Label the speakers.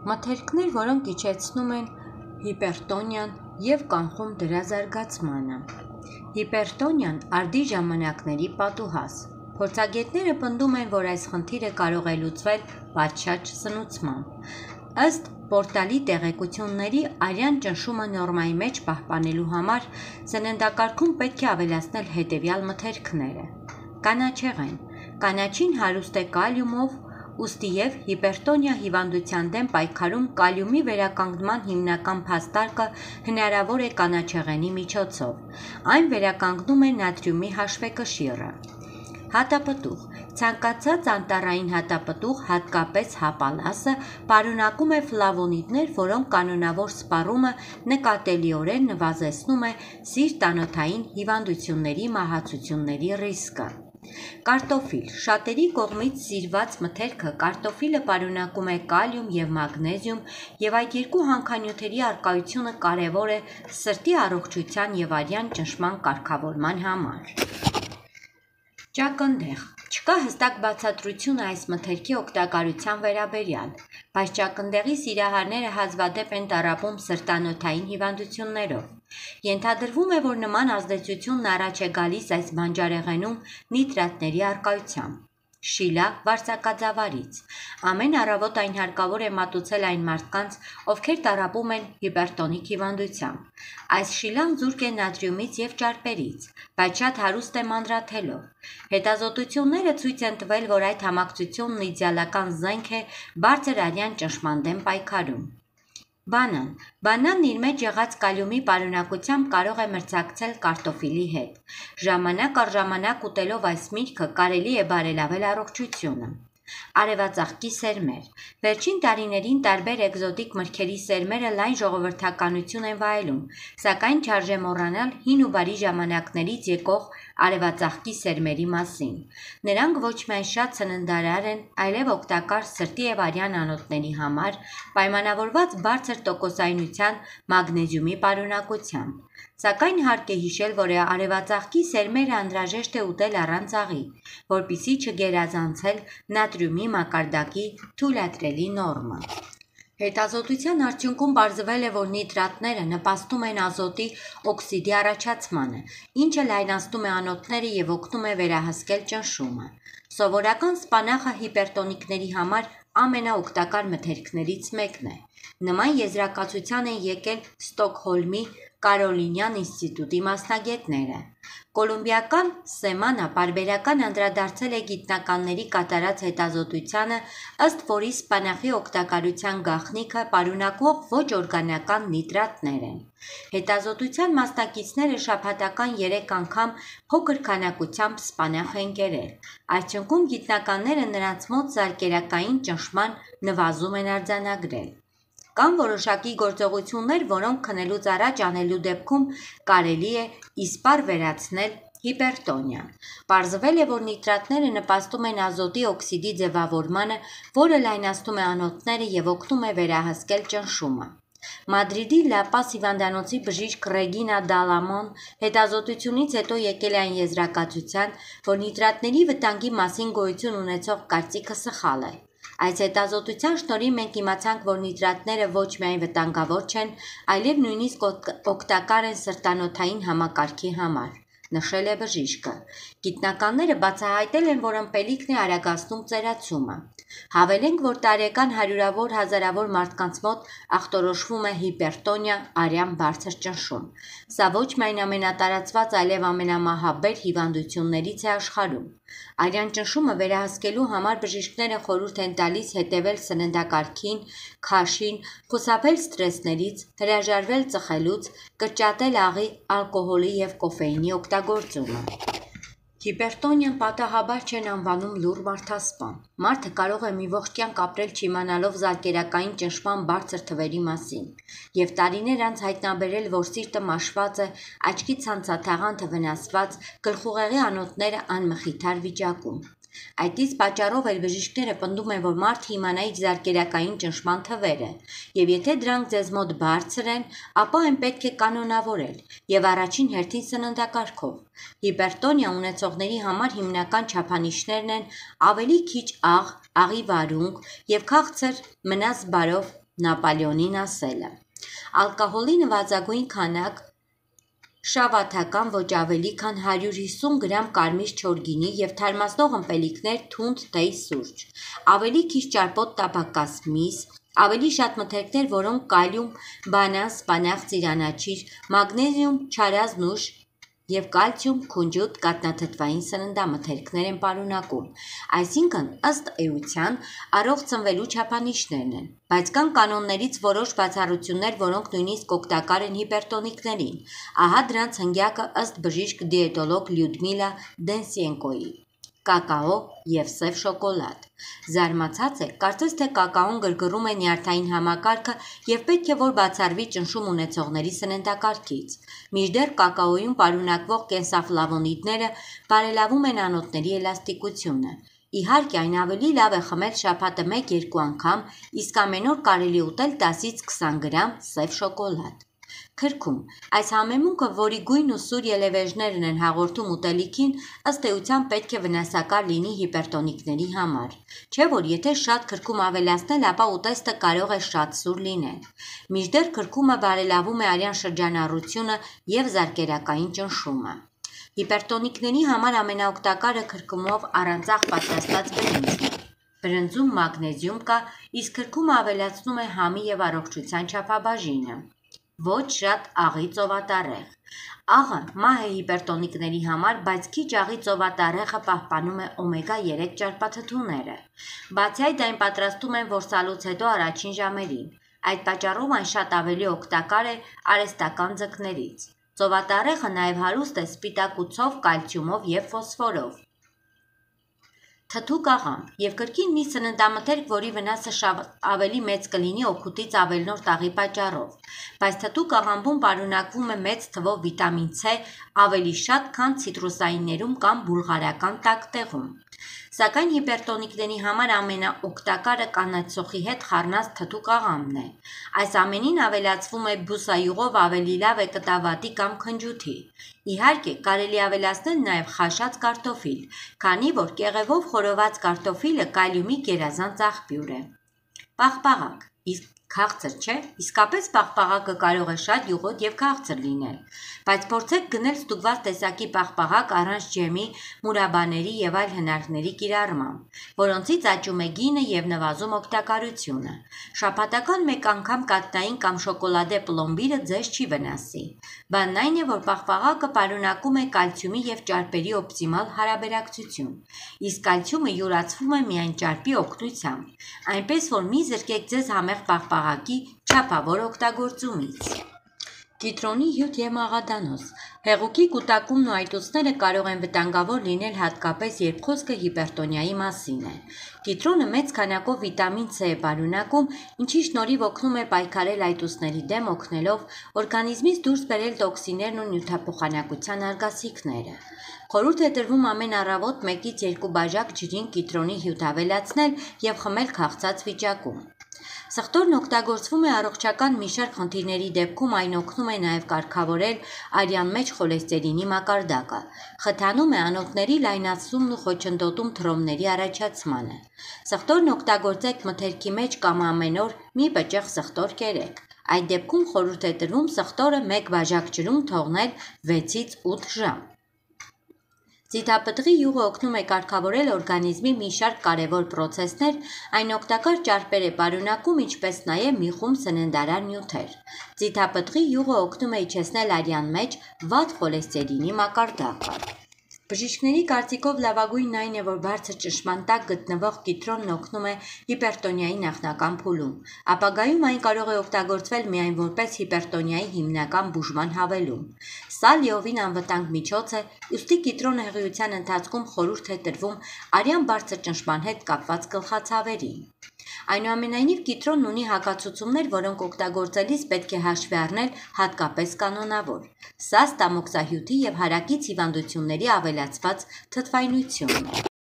Speaker 1: Մթերքներ, որոնք իջեցնում են հիպերտոնիան և կանխում դրա զարգացմանը։ Հիպերտոնիան արդի ժամանակների պատուհաս։ Փորձագետները պնդում են, որ այս խնդիրը կարող է լուծվել պատշաճ սնուցմամբ։ Ըստ պորտալի տեղեկությունների, արյան ճնշումը նորմայի մեջ պահպանելու համար սննդակարգում պետք է ավելացնել հետևյալ մթերքները. կանաչեղեն: Կանաչին հարուստ է կալիումով, ուստիև հիպերտոնիա հիվանդության դեմ պայքարում կալիումի վերականգնման հիմնական փաստարկը հնարավոր է կանաչեղենի միջոցով։ Այն վերականգնում է նատրիումի հաշվեկշիռը։ Հատապտուղ: Ցանկացած անտառային հատապտուղ, հատկապես հապալասը, պարունակում է ֆլավոնիդներ, որոնք կանոնավոր սպառումը նկատելիորեն նվազեցնում է սիրտ-անոթային հիվանդությունների մահացությունների ռիսկը։ Կարտոֆիլ: Շատերի կողմից սիրված մթերքը կարտոֆիլը պարունակում է կալիում և մագնեզիում, և այդ երկու հանքանյութերի առկայությունը կարևոր է սրտի առողջության և արյան ճնշման կարգավորման համար։ Ճակնդեղ: Չկա հստակ բացատրություն այս մթերքի օգտակարության վերաբերյալ, բայց ճակնդեղի սիրահարները հազվադեպ են տառապում սրտանոթային հիվանդություններով։ Ենթադրվում է, որ նման ազդեցությունն առաջ է գալիս այս բանջարեղենում նիտրատների առկայությամբ։ Շիլա վարձակաձավարից: Ամեն առավոտ այն հարկավոր է մատուցել այն մարդկանց, ովքեր տառապում են հիպերտոնիկ հիվանդությամբ։ Այս շիլան զուրկ է նատրիումից և ճարպերից, բայց շատ հարուստ է մանրաթելով։ Հետազոտությունները ցույց են տվել, որ այդ համակցությունն իդեալական զենք է բարձր արյան ճնշման դեմ պայքարում։ Բանան: Բանանն իր մեջ եղած կալիումի պարունակությամբ կարող է մրցակցել կարտոֆիլի հետ։ Ժամանակ առ ժամանակ ուտելով այս միրգը կարելի է բարելավել առողջությունը։ Արևածաղկի սերմեր: Վերջին տարիներին տարբեր էկզոտիկ մրգերի սերմերը լայն ժողովրդականություն են վայելում, սակայն չարժե մոռանալ հին ու բարի ժամանակներից եկող արևածաղկի սերմերի մասին։ Նրանք ոչ միայն շատ սննդարար են, այլև օգտակար սրտի և արյան անոթների համար՝ պայմանավորված բարձր տոկոսայնության մագնեզիումի պարունակությամբ։ Սակայն հարկ է հիշել, որ արևածաղկի սերմերը անհրաժեշտ է ուտել առանց աղի, որպեսզի չգերազանցել նատրիումի մակարդակի թույլատրելի նորմը։ Հետազոտության արդյունքում պարզվել է, որ նիտրատները նպաստում են ազոտի օքսիդի առաջացմանը, ինչը լայնացնում է անոթները և օգնում է վերահսկել ճնշումը։ Սովորական սպանախը հիպերտոնիկների համար ամենաօգտակար մթերքներից մեկն է։ Նման եզրակացության են եկել Ստոկհոլմի Կարոլինյան ինստիտուտի մասնագետները։ Կոլումբիական Սեմանա պարբերական անդրադարձել է գիտնականների կատարած հետազոտությանը, ըստ որի սպանախի օգտակարության գաղտնիքը պարունակվող ոչ օրգանական նիտրատներ են։ Հետազոտության մասնակիցները շաբաթական 3 անգամ փոքր քանակությամբ սպանախ են կերել։ Արդյունքում գիտնականները նրանց մոտ զարկերակային ճնշման նվազում են արձանագրել։ Կան որոշակի գործողություններ, որոնք քնելուց առաջ անելու դեպքում կարելի է իսպառ վերացնել հիպերտոնիան։ Պարզվել է, որ նիտրատները նպաստում են ազոտի օքսիդի ձևավորմանը, որը լայնացնում է անոթները և օգնում է վերահսկել ճնշումը։ Մադրիդի Լա Պաս հիվանդանոցի բժիշկ Ռեգինա Դալամոն հետազոտությունից հետո եկել է այն եզրակացության, որ նիտրատների վտանգի մասին գոյություն ունեցող կարծիքը սխալ է։ Այս հետազոտության շնորհիվ մենք իմացանք, որ նիտրատները ոչ միայն վտանգավոր չեն, այլև նույնիսկ օգտակար են սրտանոթային համակարգի համար, նշել է բժիշկը։ Գիտնականները բացահայտել են, որ ըմպելիքն է արագացնում ծերացումը։ Հավելենք, որ տարեկան հարյուրավոր հազարավոր մարդկանց մոտ ախտորոշվում է հիպերտոնիա, արյան բարձր ճնշում։ Սա ոչ միայն ամենատարածված, այլև ամենամահաբեր հիվանդություններից է աշխարհում։ Արյան ճնշումը վերահսկելու համար բժիշկները խորհուրդ են տալիս հետևել սննդակարգին, քաշին, խուսափել սթրեսներից, հրաժարվել ծխելուց, կրճատել աղի, ալկոհոլի և կոֆեինի օգտագործումը։ Հիպերտոնիան պատահաբար չեն անվանում լուռ մարդասպան։ Մարդը կարող է մի ողջ կյանք ապրել չիմանալով զարկերակային ճնշման բարձր թվերի մասին, և տարիներ անց հայտնաբերել, որ սիրտը մաշված է, աչքի ցանցաթաղանթը վնասված, գլխուղեղի անոթները անմխիթար վիճակում։ Այդ իսկ պատճառով էլ բժիշկները պնդում են, որ մարդը իմանա իր զարկերակային ճնշման թվերը, և եթե դրանք ձեզ մոտ բարձր են, ապա այն պետք է կանոնավորել, և առաջին հերթին սննդակարգով։ Հիպերտոնիա ունեցողների համար հիմնական չափանիշներն են ավելի քիչ աղ, աղի վարունգ և քաղցր մնաս բարով Նապոլեոնին ասելը։ Ալկոհոլի նվազագույն քանակ շավաթական ոչ ավելի քան 150 գրամ կարմիր չոր գինի և թարմացնող ըմպելիքներ թունդ թեյ սուրճ, ավելի քիչ ճարպոտ տաբակաս միս, ավելի շատ մթերքներ, որոնք կալիում, բանան, սպանաղ, ծիրանաչիր, մագնեզիում, չարազնուշ և կալցիում, քունջուտ, կաթնաթթվային սննդամթերքներ են պարունակում, այսինքն ըստ էության առողջ ծնվելու չափանիշներն են, բայց կան կանոններից որոշ բացառություններ, որոնք նույնիսկ օգտակար են հիպերտոնիկներին, ահա դրանց հնգյակը ըստ բժիշկ դիետոլոգ Լյուդմիլա Դենսենկոյի. կակաո և սև շոկոլադ։ Զարմացած եք, կարծես թե կակաոն գրգռում է նյարդային համակարգը և պետք է որ բացառվի ճնշում ունեցողների սննդակարգից, մինչդեռ կակաոյում պարունակվող կենսաֆլավոնիդները բարելավում են անոթների էլաստիկությունը։ Իհարկե, այն ավելի լավ է խմել շաբաթը 1-2 անգամ, իսկ ամեն օր կարելի է ուտել 10-ից 20 գրամ սև շոկոլադ։ Քրքում այս համեմունքը, որի գույն ու սուր ելևէժներն են հաղորդում ուտելիքին, ըստ էության պետք է վնասակար լինի հիպերտոնիկների համար, չէ՞ որ եթե շատ քրքում ավելացնել, ապա ուտեստը կարող է շատ սուր լինել։ Մինչդեռ քրքումը բարելավում է արյան շրջանառությունը և զարկերակային ճնշումը։ Հիպերտոնիկների համար ամենաօգտակարը քրքումով առանձախ պատրաստած բրինձն է։ Բրնձում մագնեզիում կա, իսկ քրքումը ավելացնում է համի և առողջության չափաբաժինը։ Ոչ շատ աղի ծովատառեղ։ Աղը մահ է հիպերտոնիկների համար, բայց քիչ աղի ծովատառեղը պահպանում է օմեգա 3 ճարպաթթուները։ Բացի այդ, այն պատրաստում են որսալուց հետո առաջին ժամերին։ Այդ պատճառով այն շատ ավելի օգտակար է արհեստական ձկներից։ Ծովատառեղը նաև հարուստ է սպիտակուցով, կալցիումով և ֆոսֆորով, թթու կաղամբ և կրկին մի սննդամթերք, որի վնասը ավելի մեծ կլինի օգուտից ավելնորդ աղի պատճառով, բայց թթու կաղամբում պարունակվում է մեծ թվով վիտամին C, ավելի շատ, քան ցիտրուսայիններում կամ բուլղարական տաք տեղում։ Սակայն հիպերտոնիկների համար ամենաօգտակարը կանաչ սոխի հետ խառնած թթու կաղամբն է։ Այս ամենին ավելացվում է բուսայուղով ավելի լավ է կտավատի կամ քնջութի։ Իհարկե, կարելի ավելացնել նաև խաշած կարտոֆիլ, քանի որ կեղևով խորոված կարտոֆիլը կալիումի գերազանց աղբյուր է։ Պաղպաղակ, իսկ քաղցր չէ, իսկապես պաղպաղակը կարող է շատ յուղոտ և քաղցր լինել, բայց փորձեք գնել ստուգված տեսակի պաղպաղակ առանց ջեմի, մուրաբաների և այլ հնարքների կիրառմամբ, որոնցից աճում է գինը և նվազում օգտակարությունը։ Շաբաթական մեկ անգամ կաթնային կամ շոկոլադե պլոմբիրը ձեզ չի վնասի։ Բանն այն է, որ պաղպաղակը պարունակում է կալցիումի և ճարպերի օպտիմալ հարաբերակցություն, իսկ կալցիումը յուրացվում է միայն ճարպի օգնությամբ, այնպես որ մի զրկեք ձեզ համեղ պաղպաղակի չափավոր օգտագործումից։ Կիտրոնի հյութ և մաղադանոց։ Հեղուկի կուտակումն ու այտուցները կարող են վտանգավոր լինել հատկապես, երբ խոսքը հիպերտոնիայի մասին է։ Կիտրոնը մեծ քանակով վիտամին C է պարունակում, ինչի շնորհիվ օգնում է պայքարել այտուցների դեմ, օգնելով օրգանիզմից դուրս բերել տոքսիններն ու նյութափոխանակության արգասիքները։ Խորհուրդ է տրվում ամեն առավոտ 1-ից 2 բաժակ ջրին կիտրոնի հյութ ավելացնել և խմել քաղցած վիճակում։ Սխտորն օգտագործվում է առողջական մի շարք խնդիրների դեպքում, այն օգնում է նաև կարգավորել արյան մեջ խոլեստերինի մակարդակը, խթանում է անոթների լայնացումն ու խոչընդոտում թռովների առաջացմանը։ Սխտորն օգտագործեք մթերքի մեջ կամ ամեն օր մի պճեղ սխտոր կերեք։ Այդ դեպքում խորհուրդ է տրվում սխտորը 1 բաժակ ջրում թողնել 6-ից 8 ժամ։ Ձիթապտղի յուղը օգնում է կարգավորել օրգանիզմի մի շարք կարևոր պրոցեսներ, այն օգտակար ճարպեր է պարունակում, ինչպես նաև մի խումբ սննդարար նյութեր։ Ձիթապտղի յուղը օգնում է իջեցնել արյան մեջ վատ խոլեստերինի մակարդակը։ Բժիշկների կարծիքով լավագույնն այն է, որ բարձր ճնշման տակ գտնվող կիտրոնն օգնում է հիպերտոնիայի նախնական փուլում։ Ապագայում այն կարող է օգտագործվել միայն որպես հիպերտոնիայի հիմնական բուժման հավելում։ Սա լիովին անվտանգ միջոց է, ուստի կիտրոնը հղիության ընթացքում խորհուրդ է տրվում արյան բարձր ճնշման հետ կապված գլխացավերին։ Այնուամենայնիվ, կիտրոնն ունի հակացուցումներ, որոնք օգտագործելիս պետք է հաշվի առնել հատկապես կանոնավոր։ Սա ստամոքսահյութի և հարակից հիվանդությունների ավելացված թթվայնությունն է։